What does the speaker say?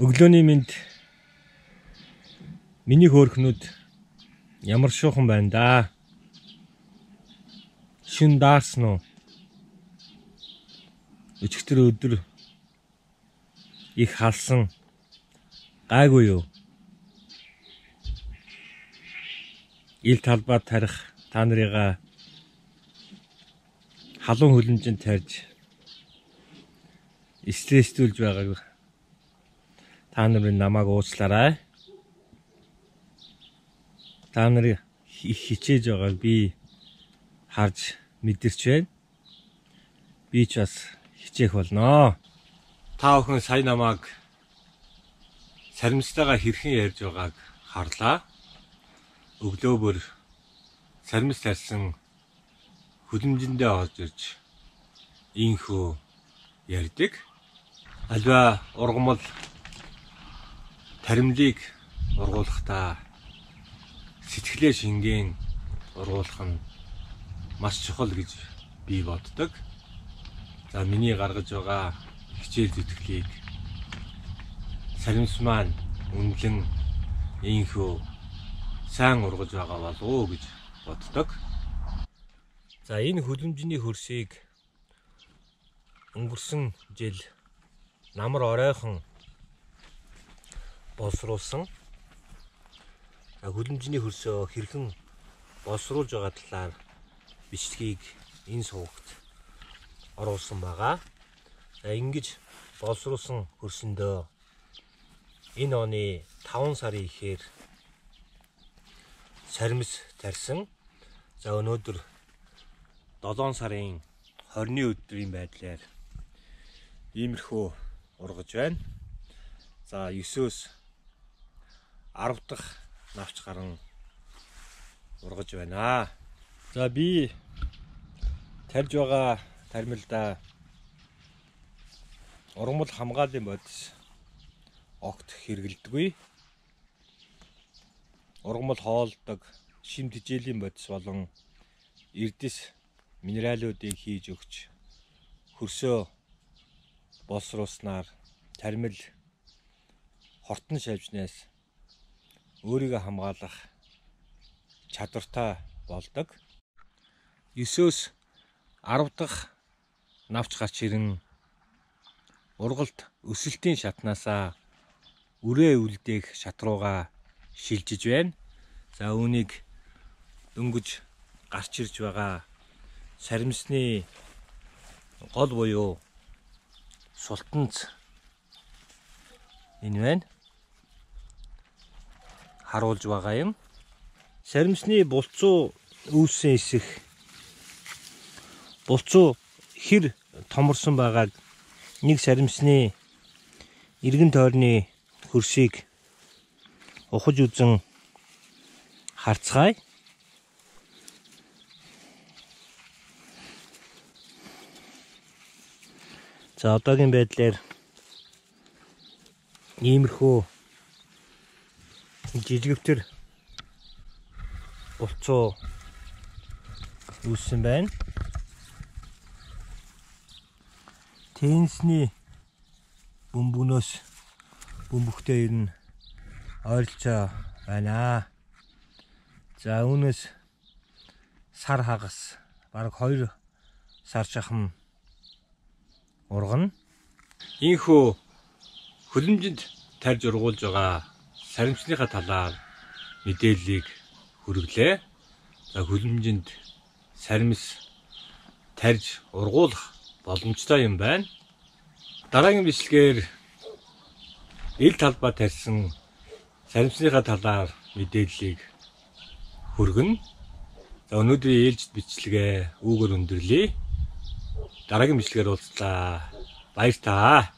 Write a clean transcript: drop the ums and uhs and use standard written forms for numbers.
Өглөөний минь миний хөөрхнүүд ямар шуухан байна да. Шин даарсан уу? Өчигдөр өдөр их халсан гайгүй юу? Ил талбай тарих та нарыгаа халуун хөлөмжөнд тарьж стресстүүлж байгааг та нарын намайг уучлаарай. Та нарын хичээж байгааг би харж мэдэрч байна. Би ч бас хичээх болно. Та бүхэн сая намайг саримстайгаа хэрхэн ярьж байгааг харлаа. Өглөө бүр саримс тарьсан хөлөмжөндөө орж ирж инхүү ярьдаг. Альва ургамал таримлыг ургуулахдаа сэтгэлээ шингэн ургуулах нь маш чухал гэж би боддог. За миний гаргаж байгаа хичээл зүтгэлийг саримс маань үнэлэн инхүү сайн ургаж байгаа болов уу гэж боддог. За энэ хөлөмжний хөрсийг өнгөрсөн жил намар оройхон боловсруулсан. Хөлөмжний хөрсөө хэрхэн боловсруулж байгаа талаар бичлэгийг энэ сувагт оруулсан байгаа. За ингэж боловсруулсан хөрсөндөө энэ оны 5 сарын ихээр саримс тарьсан. За өнөөдөр 7 сарын 20-ны өдрийн байдлаар иймэрхүү ургаж байна. За 9-өөс 10 дахь навч гарan ургаж байна. За би тарьж байгаа таримлда ургамал хамгааллын бодис огт хэрэгэлдэггүй. Ургамал хоолдог шим тэжээлийн бодис болон эрдэс минералуудыг хийж өгч хөрсөө боловсруулснаар таримл хортон шавжнаас өөрийгөө хамгаалах чадвартай болдог. 9-өөс 10 дахь навч гарч ирэн ургалт өсөлтийн шатнаасаа үрээ үлдээх шат руугаа шилжиж байна. За үүнийг дөнгөж гарч ирж байгаа саримсны гол буюу султанц энэ байна. Харуулж байгаа юм. Саримсны булцуу үүссэн эсэх булцуу хэр томорсон байгааг нэг саримсны эргэн тойрны хөрсийг ухаж үзэн харцгаая. За одоогийн байдлаар иймэрхүү жижигвтер булцуу үүссэн байна. Теннисний бөмбөгнөөс бөмбөгтэй ирнэ ойролцоо байна. За үүнээс сар хагас бараг 2 сар шахам ургана. Ийхүү хөлөмжөнд тарьж ургуулж байгаа саримсныхаа талаар мэдээллийг хүргэлээ. За хөлөмжөнд саримс тарьж ургуулах боломжтой юм байна. Дараагийн бичлэгээр ил талбай тарьсан саримсныхаа талаар мэдээллийг хүргэнэ. За өнөөдрийн ээлжид бичлэгээ үүгээр өндөрлөе. Дараагийн бичлэгээр уулзлаа. Баяр таа.